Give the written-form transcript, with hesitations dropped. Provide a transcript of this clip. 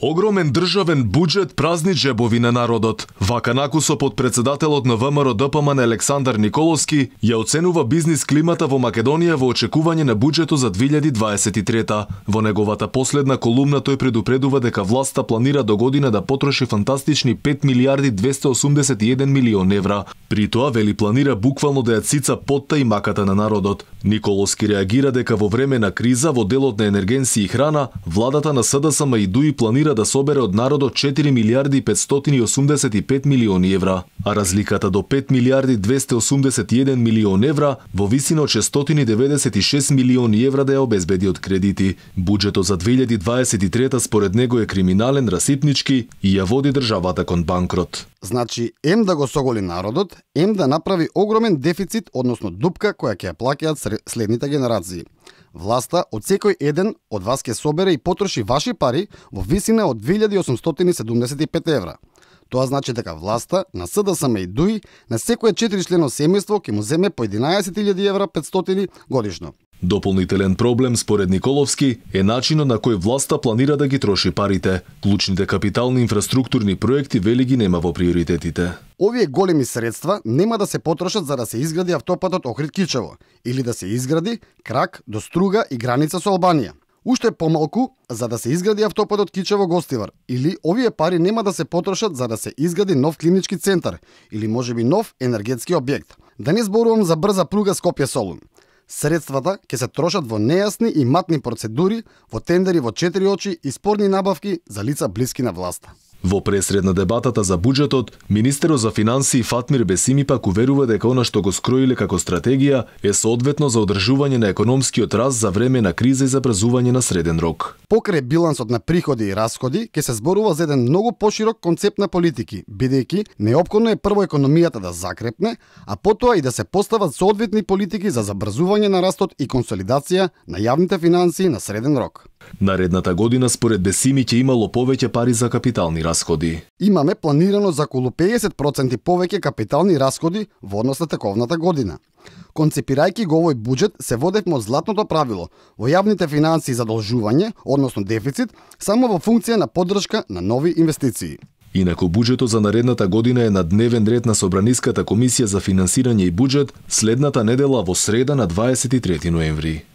Огромен државен буџет празни џебови на народот. Вака накусо подпредседателот на ВМРО ДПМН Александар Николовски ја оценува бизнис климата во Македонија во очекување на буџетот за 2023. Во неговата последна колумна тој предупредува дека власта планира до година да потроши фантастични 5 милиарди 281 милион евра. При тоа вели планира буквално да ја цица потта и маката на народот. Николовски реагира дека во време на криза во делот на енергенси и храна, владата на СДСМ и ДУИ планира да собере од народот 4 милиарди 585 милиони евра, а разликата до 5 милиарди 281 милион евра во висина од 696 милиони евра да ја обезбеди од кредити. Буџетот за 2023 според него е криминален, расипнички и ја води државата кон банкрот. Значи, ем да го соголи народот, ем да направи огромен дефицит, односно дупка која ќе ја плаќаат следните генерации. Власта од секој еден од вас ќе собере и потроши ваши пари во висина од 2875 евра. Тоа значи дека власта на СДСМ и ДУИ на секое 4-члено семејство ќе му земе по 11.000 евра 500 годишно. Дополнителен проблем според Николовски е начинот на кој власта планира да ги троши парите. Клучните капитални инфраструктурни проекти вели ги нема во приоритетите. Овие големи средства нема да се потрошат за да се изгради автопатот Охрид-Кичево или да се изгради крак до Струга и граница со Албанија. Уште помалку за да се изгради автопатот Кичево-Гостивар или овие пари нема да се потрошат за да се изгради нов клинички центар или можеби нов енергетски објект. Да не зборувам за брза пруга Скопје-Солун. Средствата ќе се трошат во нејасни и матни процедури, во тендери во 4 очи и спорни набавки за лица блиски на власта. Во пресред на дебатата за буџетот, министерот за финансии Фатмир Бесими пак уверува дека она што го скроиле како стратегија е соодветно за одржување на економскиот раст за време на криза и за брзување на среден рок. Покрај билансот на приходи и расходи, ќе се зборува за еден многу поширок концепт на политики, бидејќи неопходно е прво економијата да закрепне, а потоа и да се постават соодветни политики за забрзување на растот и консолидација на јавните финансии на среден рок. Наредната година според Бесими ќе имало повеќе пари за капитални расходи. Имаме планирано за околу 50% повеќе капитални расходи во однос на тековната година. Концепирајќи го овој буџет, се водевме од златното правило во јавните финансии задолжување, односно дефицит, само во функција на поддршка на нови инвестиции. Инаку буџетот за наредната година е на дневен ред на Собраниската комисија за финансирање и буџет следната недела во среда на 23 ноември.